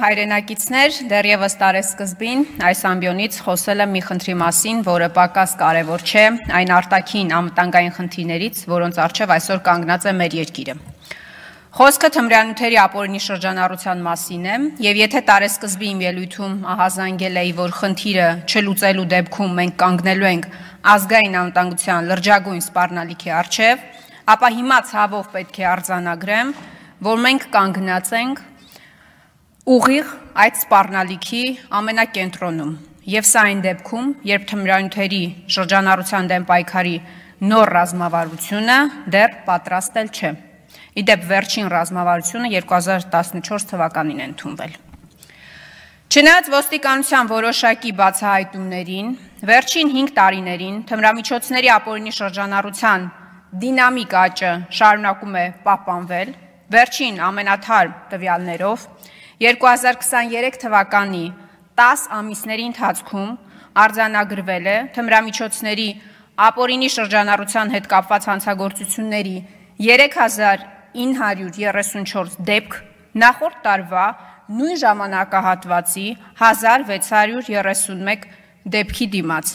Հայրենակիցներ, դեռևս տարեսկզբին այս ամբիոնից խոսել եմ մի խնդրի մասին, որը պակաս կարևոր չէ, այն արտաքին անվտանգային խնդիրներից, որոնց առջև այսօր կանգնած է մեր երկիրը։ Խոսքը թմրանյութերի ապօրինի շրջանառության մասին է, եւ եթե տարեսկզբի իմ ելույթում ահազանգել էի, որ խնդիրը չլուծելու դեպքում մենք կանգնելու ենք ազգային անվտանգության լրջագույն սպառնալիքի առջև, ապա հիմա ցավով պետք է արձանագրեմ, որ մենք կանգնած ենք ուղիղ այդ սպառնալիքի ամենակենտրոնում, եւ սա այն դեպքում, երբ թմրանյութերի շրջանառության դեմ պայքարի նոր ռազմավարությունը դեռ պատրաստել չէ։ Իդեպ վերջին ռազմավարությունը 2014 թվականին է ընդունվել։ Չնայած ոստիկանության որոշակի բացահայտումներին, վերջին 5 տարիներին թմրամիջոցների ապօրինի շրջանառության դինամիկ աճը շարունակում է պահպանվել, վերջին ամենաթարմ տվյալներով 2023 թվականի 10 ամիսների ընթացքում արձանագրվել է թմրամիջոցների ապօրինի շրջանառության հետ կապված հանցագործությունների 3934 դեպք, նախորդ տարվա նույն ժամանակահատվածի 1631 դեպքի դիմաց,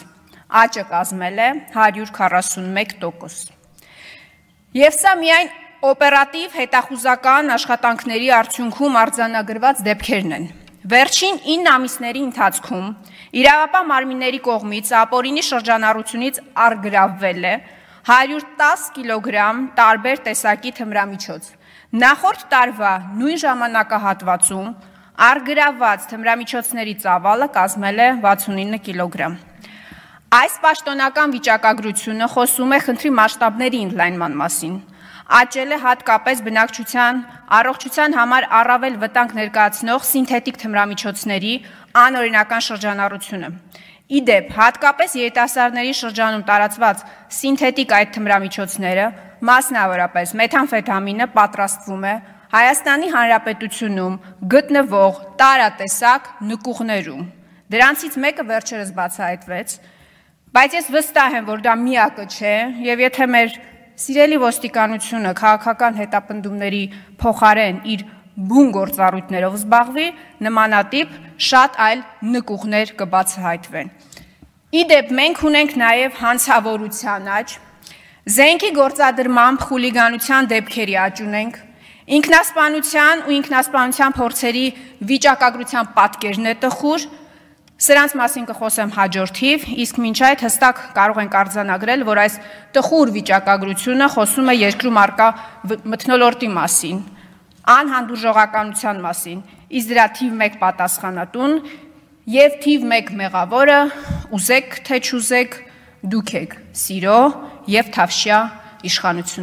աճը կազմել է 141%։ Եվ սա միայն օպերատիվ հետախուզական աշխատանքների արդյունքում արձանագրված դեպքերն են։ Վերջին 9 ամիսների ընթացքում իրավապահ մարմինների կողմից ապօրինի շրջանառությունից առգրավվել է 110 կիլոգրամ տարբեր տեսակի թմրամիջոց։ Նախորդ տարվա նույն ժամանակահատվածում առգրավված թմրամիջոցների ծավալը կազմել է 69 կիլոգրամ։ Այս պաշտոնական վիճակագրությունը խոսում է խնդրի մասշտաբների ընդլայնման մասին։ Աճել է հատկապես բնակչության առողջության համար առավել վտանգ ներկայացնող սինթետիկ թմրամիջոցների անօրինական շրջանառությունը։ Իդեպ, հատկապես երիտասարդների շրջանում տարածված սինթետիկ այդ թմրամիջոցները, մասնավորապես մեթամֆետամինը, պատրաստվում է Հայաստանի Հանրապետությունում գտնվող տարատեսակ նկուղներում։ Դրանցից մեկը վերջերս բացահայտվեց, բայց ես վստահ եմ, որ դա միակը չէ, եւ եթե մեր սիրելի ոստիկանությունը քաղաքական հետապնդումների փոխարեն իր բուն գործառույթներով զբաղվի, նմանատիպ շատ այլ նկուղներ կբացահայտվեն։ Իդեպ մենք ունենք նաև հանցավորության աճ, զենքի գործադրմամբ խուլիգանության դեպքերի աճ ունենք, ինքնասպանության ու ինքնասպանության փորձերի վիճակագրության պատկերն է տխուր, սրանց մասին կխոսեմ հաջորդիվ, իսկ մինչ այդ հստակ կարող ենք արձանագրել, որ այս տխուր վիճակագրությունը խոսում է երկրում առկա մթնոլորտի մասին, անհանդուրժողականության մասին, իսկ դրա թիվ 1 պատասխանատուն եւ թիվ 1 մեղավորը ուզեք թե չուզեք դուք եք՝ սիրո եւ թավշյա իշխանություն։